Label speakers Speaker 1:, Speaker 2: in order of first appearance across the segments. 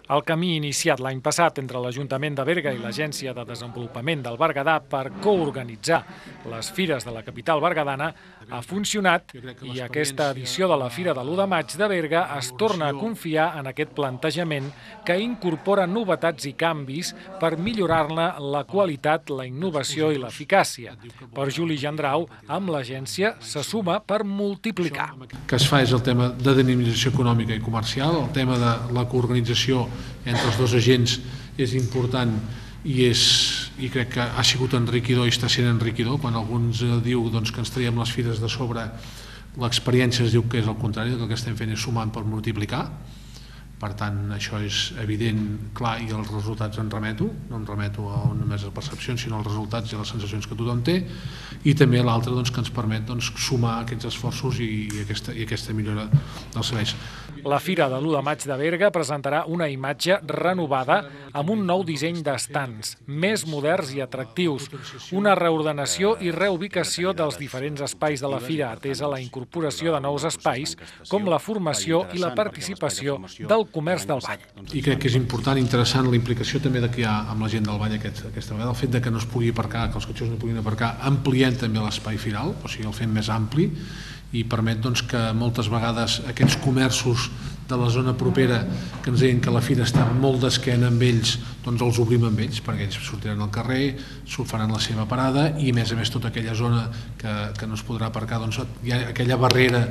Speaker 1: El camí iniciat l'any passat entre l'Ajuntament de Berga i l'Agència de Desenvolupament del Berguedà per coorganitzar les fires de la capital berguedana ha funcionat i aquesta edició de la Fira de l'1 de maig de Berga es torna a confiar en aquest plantejament que incorpora novetats i canvis per millorar-ne la qualitat, la innovació i l'eficàcia. Per Juli Gendrau, amb l'agència se suma per multiplicar.
Speaker 2: El que es fa és el tema de dinamització econòmica i comercial, el tema de la coorganització entre els dos agents és important i crec que ha sigut enriquidor i està sent enriquidor. Quan alguns diu que ens traiem les fires de sobre, l'experiència es diu que és el contrari, que el que estem fent és sumant per multiplicar. Per tant, això és evident, clar, i els resultats en remeto, no em remeto a només a percepcions, sinó als resultats i a les sensacions que tothom té, i també l'altre que ens permet sumar aquests esforços i aquesta millora dels serveis.
Speaker 1: La Fira de l'1 de maig de Berga presentarà una imatge renovada amb un nou disseny d'estands, més moderns i atractius, una reordenació i reubicació dels diferents espais de la Fira, atesa la incorporació de nous espais, com la formació i la participació del comerç del Vall.
Speaker 2: I crec que és important i interessant la implicació també que hi ha amb la gent del Vall aquesta vegada, el fet que no es pugui aparcar, que els cotxes no puguin aparcar, ampliant també l'espai firal, o sigui, el fem més ampli, i permet que moltes vegades aquests comerços de la zona propera que ens deien que la fira està molt d'esquena amb ells, els obrim amb ells, perquè ells sortiran al carrer, faran la seva parada i a més tota aquella zona que no es podrà aparcar, hi ha aquella barrera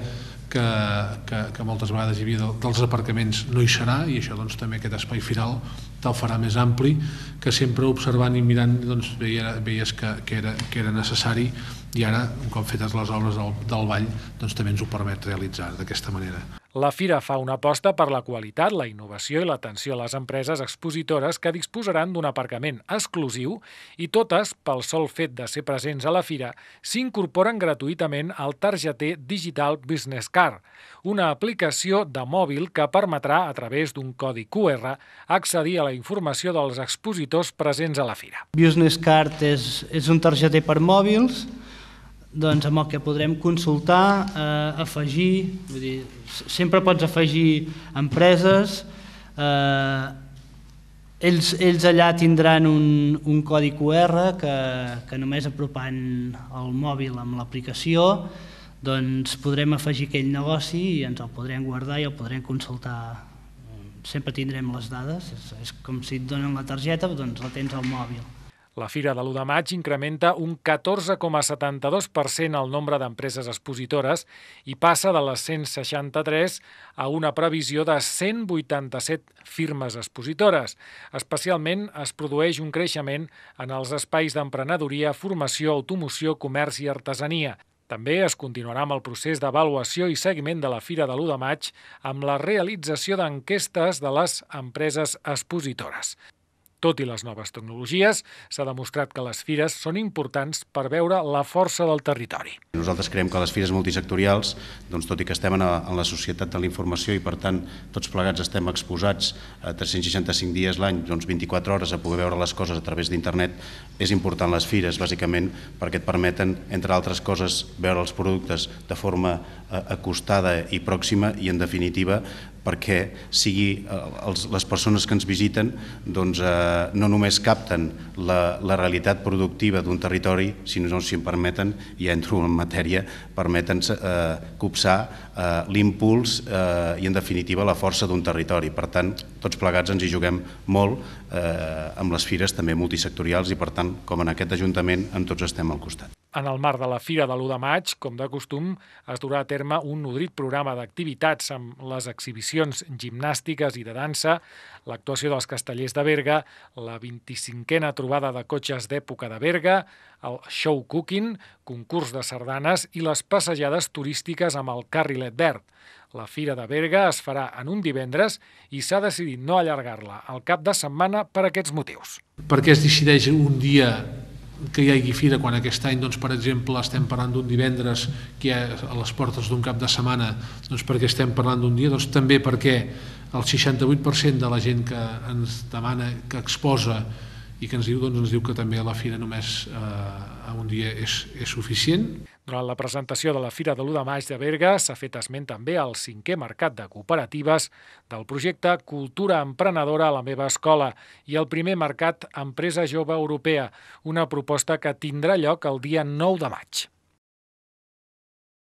Speaker 2: que moltes vegades hi havia dels aparcaments no hi serà, i això també aquest espai firal te'l farà més ampli, que sempre observant i mirant veies que era necessari, i ara, un cop fetes les obres del Vall, també ens ho permet realitzar d'aquesta manera.
Speaker 1: La Fira fa una aposta per la qualitat, la innovació i l'atenció a les empreses expositores que disposaran d'un aparcament exclusiu i totes, pel sol fet de ser presents a la Fira, s'incorporen gratuïtament al targeter Digital Business Card, una aplicació de mòbil que permetrà, a través d'un codi QR, accedir a la informació dels expositors presents a la Fira.
Speaker 3: Business Card és un targeter per mòbils amb el que podrem consultar, afegir, sempre pots afegir empreses, ells allà tindran un codi QR que només apropant el mòbil amb l'aplicació podrem afegir aquell negoci i ens el podrem guardar i el podrem consultar. Sempre tindrem les dades, és com si et donen la targeta, la tens al mòbil.
Speaker 1: La Fira de l'1 de maig incrementa un 14,72% el nombre d'empreses expositores i passa de les 163 a una previsió de 187 firmes expositores. Especialment es produeix un creixement en els espais d'emprenedoria, formació, automoció, comerç i artesania. També es continuarà amb el procés d'avaluació i seguiment de la Fira de l'1 de maig amb la realització d'enquestes de les empreses expositores. Tot i les noves tecnologies, s'ha demostrat que les fires són importants per veure la força del territori.
Speaker 4: Nosaltres creiem que les fires multisectorials, tot i que estem en la societat de la informació i per tant tots plegats estem exposats a 365 dies l'any, 24 hores a poder veure les coses a través d'internet, és important les fires bàsicament perquè et permeten, entre altres coses, veure els productes de forma acostada i pròxima i en definitiva perquè les persones que ens visiten no només capten la realitat productiva d'un territori, sinó, si em permeten, ja entro en matèria, permeten copsar l'impuls i, en definitiva, la força d'un territori. Per tant, tots plegats ens hi juguem molt amb les fires també multisectorials i, per tant, com en aquest Ajuntament, amb tots estem al costat.
Speaker 1: En el marc de la Fira de l'1 de maig, com de costum, es durà a terme un nodrit programa d'activitats amb les exhibicions gimnàstiques i de dansa, l'actuació dels castellers de Berga, la 25a trobada de cotxes d'època de Berga, el show cooking, concurs de sardanes i les passejades turístiques amb el carrilet verd. La Fira de Berga es farà en un divendres i s'ha decidit no allargar-la al cap de setmana per aquests motius.
Speaker 2: Per què es decideix un dia que hi hagi fira quan aquest any, per exemple, estem parlant d'un divendres que hi ha a les portes d'un cap de setmana, perquè estem parlant d'un dia? També perquè el 68% de la gent que ens demana, que exposa i que ens diu que també la fira només a un dia és suficient.
Speaker 1: Durant la presentació de la Fira de l'1 de maig de Berga s'ha fet esment també al 5è Mercat de Cooperatives del projecte Cultura Emprenedora a la meva escola i el primer Mercat Empresa Jove Europea, una proposta que tindrà lloc el dia 9 de maig.